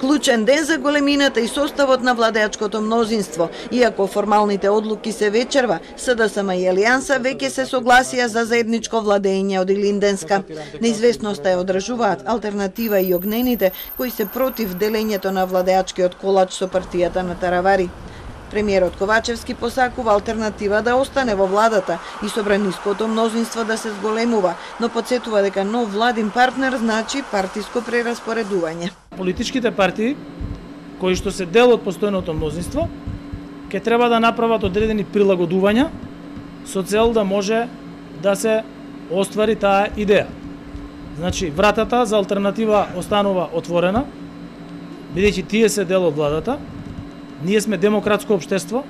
Клучен ден за големината и составот на владеачкото мнозинство. Иако формалните одлуки се вечерва, СДСМ и Алијанса веќе се согласија за заедничко владење од Илинденска. Неизвестноста ја одржуваат Алтернатива и Огнените, кои се против делењето на владеачкиот колач со партијата на Таравари. Премиерот Ковачевски посакува Алтернатива да остане во владата и собраниското мнозинство да се зголемува, но потсетува дека нов владин партнер значи партиско прераспоредување. Политичките партии, кои што се дел од постојното мнозинство, ќе треба да направат одредени прилагодувања со цел да може да се оствари таа идеја. Значи, вратата за Алтернатива останува отворена, бидејќи тие се дел од владата. Ние сме демократско општество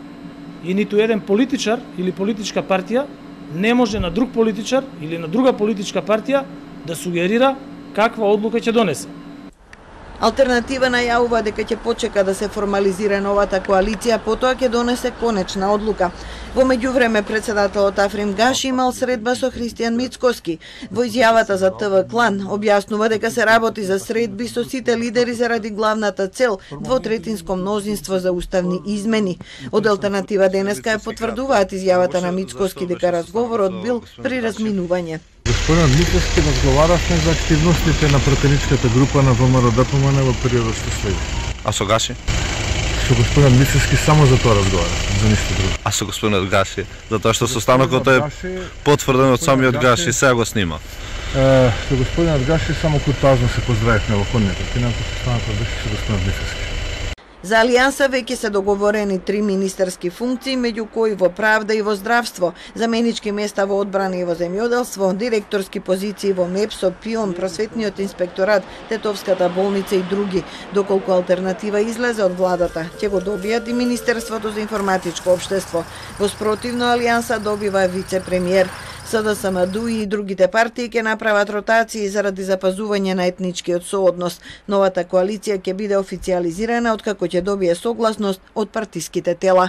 и ниту еден политичар или политичка партија не може на друг политичар или на друга политичка партија да сугерира каква одлука ќе донесе. Алтернатива најавува дека ќе почека да се формализира новата коалиција, потоа ќе донесе конечна одлука. Во меѓувреме председателот Африм Гаши имал средба со Христијан Мицкоски. Во изјавата за ТВ Клан објаснува дека се работи за средби со сите лидери заради главната цел двотретинско мнозинство за уставни измени. Од Алтернатива денеска ја потврдуваат изјавата на Мицкоски дека разговорот бил при разминување. Господин Мицкоски, разговарашме за активностите на пратеничката група на ВМРО-ДПМН во периодот што следи. А со Гаши? Со господин Мицкоски само за тоа разговарашме, за ништо друго. А со господинот Гаши, затоа што состанокот е потврден од самиот Гаши, сега го снима. Со господинот Гаши само куртоазно се поздравивме во ходникот, инаку состанокот беше со господинот Мицкоски. За Алијанса веќе се договорени 3 министерски функции, меѓу кои во правда и во здравство, заменички места во одбрана и во земјоделство, директорски позиции во МЕПСО, ПИОН, просветниот инспекторат, Тетовската болница и други. Доколку Алтернатива излезе од владата, ќе го добијат и Министерството за информатичко општество. Во спротивно Алијанса добива вице-премиер. СДСМ, ДУИ и другите партии ќе направат ротации заради запазување на етничкиот сооднос. Новата коалиција ќе биде официјализирана откако ќе добие согласност од партиските тела.